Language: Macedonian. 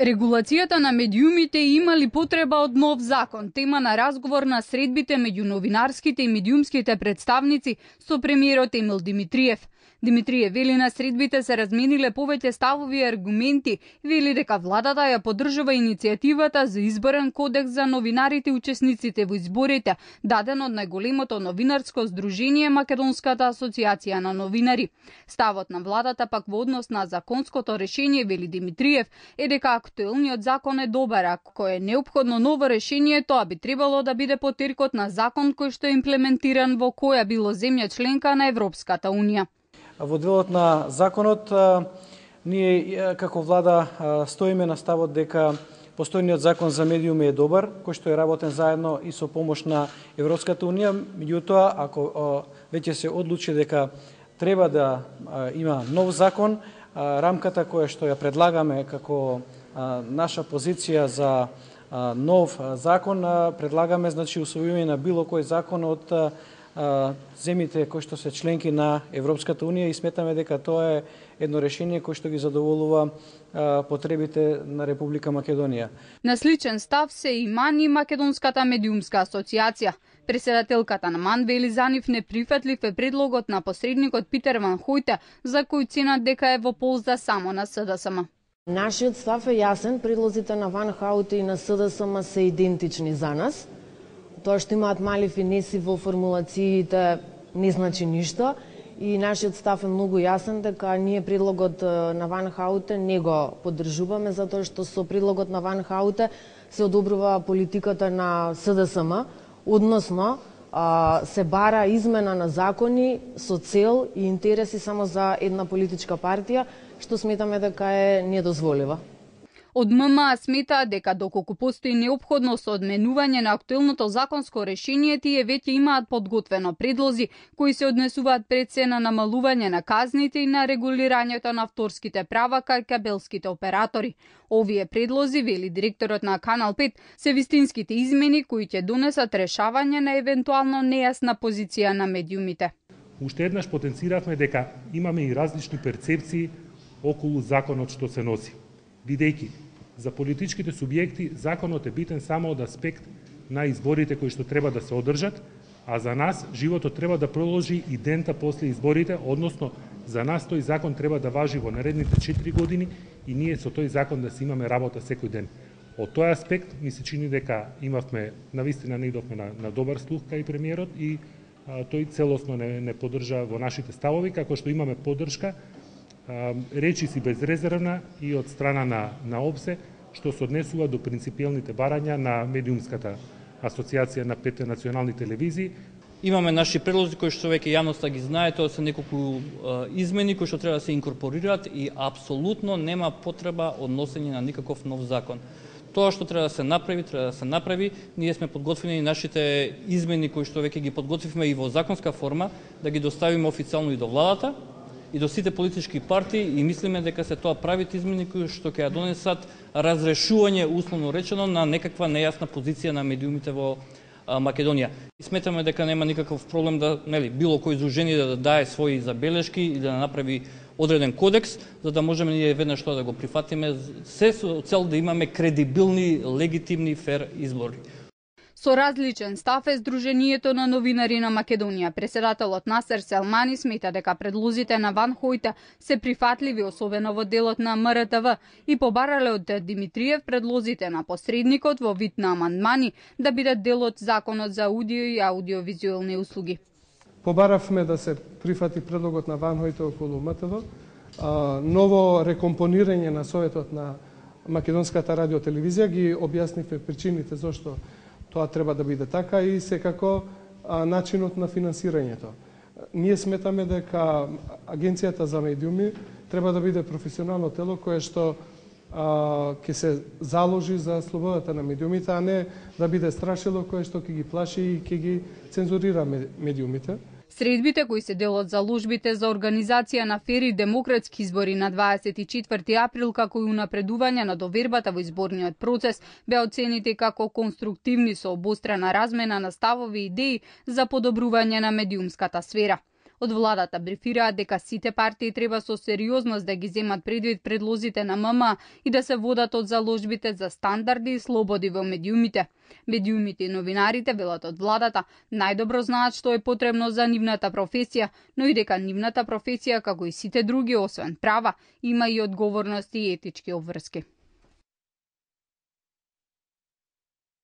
Регулацијата на медиумите имали потреба од нов закон, тема на разговор на средбите меѓу новинарските и медиумските представници со премиерот Емил Димитриев. Димитриев вели на средбите се размениле повеќе ставови и аргументи, вели дека владата ја поддржува иницијативата за изборен кодекс за новинарите и учесниците во изборите, даден од најголемото новинарско здружение Македонската асоциација на новинари. Ставот на владата пак во однос на законското решение, вели Димитриев, е дека актуелниот закон е добар, ако е неопходно ново решение, тоа би требало да биде потеркот на закон кој што е имплементиран во која било земја членка на Европската унија. Во делот на законот, ние како влада стоиме на ставот дека постојниот закон за медиуми е добар, кој што е работен заедно и со помош на Европската унија. Меѓутоа, ако веќе се одлучи дека треба да има нов закон, рамката која што ја предлагаме како наша позиција за нов закон, предлагаме усвојување на било кој закон од земјите кои што се членки на Европската унија и сметаме дека тоа е едно решение кое што ги задоволува потребите на Република Македонија. На сличен став се и МАН и Македонската медиумска асоциација. Председателката на МАН вели за нив неприфатлив е предлогот на посредникот Питер Ван Хојте, за кој ценат дека е во полза само на СДСМ. Нашиот став е јасен, предлозите на Ван Хојте и на СДСМ се идентични за нас. Тоа што имаат мали финеси во формулациите не значи ништо и нашиот став е многу јасен дека ние предлогот на Ван Хојте не го поддржуваме затоа што со предлогот на Ван Хојте се одобрува политиката на СДСМ, односно се бара измена на закони со цел и интереси само за една политичка партија, што сметаме дека е недозволива. Од ММА смета дека доколку постои неопходност од одменување на актуелното законско решение, тие веќе имаат подготвено предлози кои се однесуваат пред се на намалување на казните и на регулирањето на авторските права кај кабелските оператори. Овие предлози, вели директорот на Канал 5, се вистинските измени кои ќе донесат решавање на евентуално нејасна позиција на медиумите. Уште еднаш потенциравме дека имаме и различни перцепции околу законот што се носи. Бидејќи за политичките субјекти законот е битен само од аспект на изборите кои што треба да се одржат, а за нас животот треба да продолжи и дента после изборите, односно за нас тој закон треба да важи во наредните 4 години и ние со тој закон да си имаме работа секој ден. Од тој аспект ми се чини дека имавме, навистина не идовме на добар слух кај премиерот и тој целосно не поддржа во нашите ставови, како што имаме поддршка речиси безрезервна и од страна на ОПСЕ, што се однесува до принципиелните барања на медиумската асоциација на 5 национални телевизии. Имаме наши предлози кои што веќе јавноста ги знае, тоа се неколку измени кои што треба да се инкорпорираат и апсолутно нема потреба од носење на никаков нов закон. Тоа што треба да се направи, ние сме подготвени нашите измени кои што веќе ги подготвивме и во законска форма, да ги доставиме официјално и до владата, и до сите политички партии и мислиме дека се тоа правите измени кои што ќе ја донесат разрешување, условно речено, на некаква нејасна позиција на медиумите во Македонија. И сметаме дека нема никаков проблем да, било кој здружение да дае своји забелешки или да направи одреден кодекс, за да можеме ние веднаш тоа да го прифатиме, се со цел да имаме кредибилни, легитимни, фер избори. Со различен став е Сдруженијето на новинари на Македонија. Председателот Насер Селмани смета дека предлозите на Ван Хојте се прифатливи, особено во делот на МРТВ, и побарале од Димитриев предлозите на посредникот во вид на амандмани да бидат дел од законот за аудио и аудиовизуелни услуги. Побаравме да се прифати предлогот на Ван Хојте околу МТВ, ново рекомпонирање на Советот на Македонската радиотелевизија, ги објаснивме причините зошто тоа треба да биде така и секако начинот на финансирањето. Ние сметаме дека Агенцијата за медиуми треба да биде професионално тело кое што ќе се заложи за слободата на медиумите, а не да биде страшило кое што ќе ги плаши и ќе ги цензурира медиумите. Средбите кои се дел од заложбите за организација на фери демократски избори на 24 април како и унапредување на довербата во изборниот процес беа оценети како конструктивни со обострена размена на ставови и идеи за подобрување на медиумската сфера. Од владата брифираат дека сите партии треба со сериозност да ги земат предвид предлозите на ММ и да се водат од заложбите за стандарди и слободи во медиумите. Медиумите и новинарите, велат од владата, најдобро знаат што е потребно за нивната професија, но и дека нивната професија, како и сите други, освен права, има и одговорности и етички обврски.